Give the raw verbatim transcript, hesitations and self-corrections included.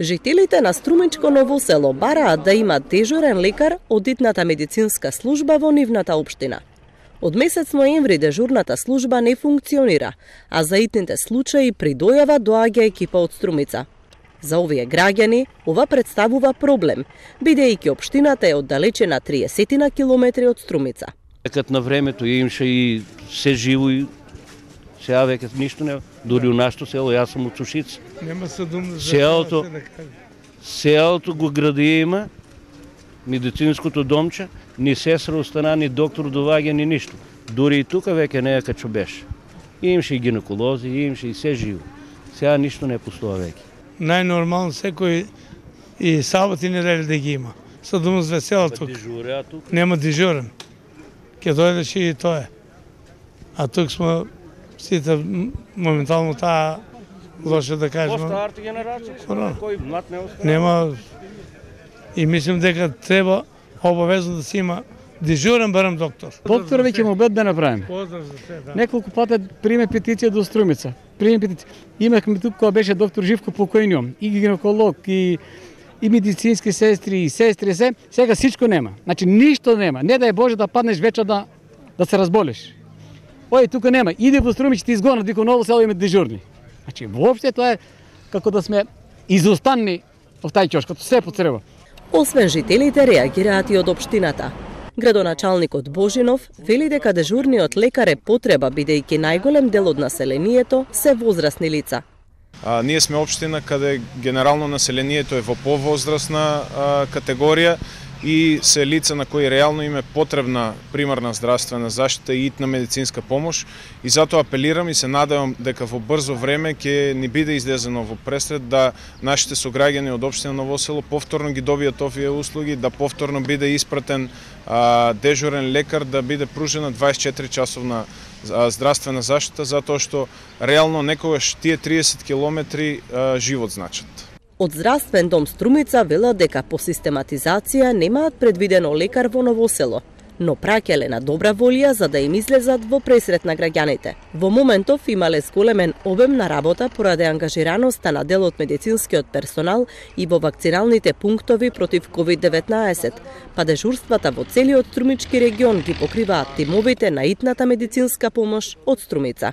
Жителите на Струмичко Ново село бараат да имат дежурен лекар од итната медицинска служба во нивната општина. Од месец ноември дежурната служба не функционира, а за итните случаи при дојава доаѓа екипа од Струмица. За овие граѓани ова представува проблем, бидејќи општината е оддалечена триесет километри од Струмица. Кад на времето имаше и се живо и сега веќе ништо не, дури у нашето село, јас сум од Сушица. Нема съдум за селото, да каже. Селото го гради има, медицинското домче, ни сестра остана, ни доктор доваѓа, ни ништо. Дури и тука веќе не е качо беше. Имаше и гинеколози, имаше и се живо. Сега ништо не постоа веќе. Најнормално секој и саботи недели да ги има. Съдум за селото. Нема дежурен. Ке дојдеш и тоа е. А тук сме сите моментално таа лошо да кажем. По-старата генерација, кој млад не остана. Нема и мислим дека треба обавезно да се има дежурен барем доктор. Доктор веќе му обед да направим. Поздрав за се, да. Неколку пати приме петиција до Струмица. Приме петиција. Имахме тук кога беше доктор Живко покојниот, и гинеколог, и и медицински сестри, и сестри се, сега сичко нема. Значи ништо нема. Не дај Боже да паднеш вечер да да се разболеш. Ој тука нема. Иде во Струмица ти изгонат дека Ново село има дежурни. Значи воопште тоа е како да сме изостанни во тај ќош, като се потреба. Освен жителите реагираат и од општината. Градоначалникот Божинов вели дека дежурниот лекар е потреба бидејќи најголем дел од населението се возрастни лица. А, ние сме општина каде генерално населението е во повозрастна а, категорија и се лица на кои реално им е потребна примарна здравствена заштита и итна медицинска помош, и затоа апелирам и се надевам дека во брзо време ќе ни биде излезено во пресред да нашите сограѓани од општина Ново село повторно ги добијат овие услуги, да повторно биде испратен а, дежурен лекар, да биде пружена дваесет и четири часовна здравствена заштита, затоа што реално некогаш тие триесет километри а, живот значат. Од Здравствен дом Струмица велат дека по систематизација немаат предвидено лекар во Ново село, но праќале на добра волја за да им излезат во пресрет на граѓаните. Во моментов имале зголемен обем на работа поради ангажираноста на дел од медицинскиот персонал и во вакциналните пунктови против ковид деветнаесет, па дежурствата во целиот Струмички регион ги покриваат тимовите на итната медицинска помош од Струмица.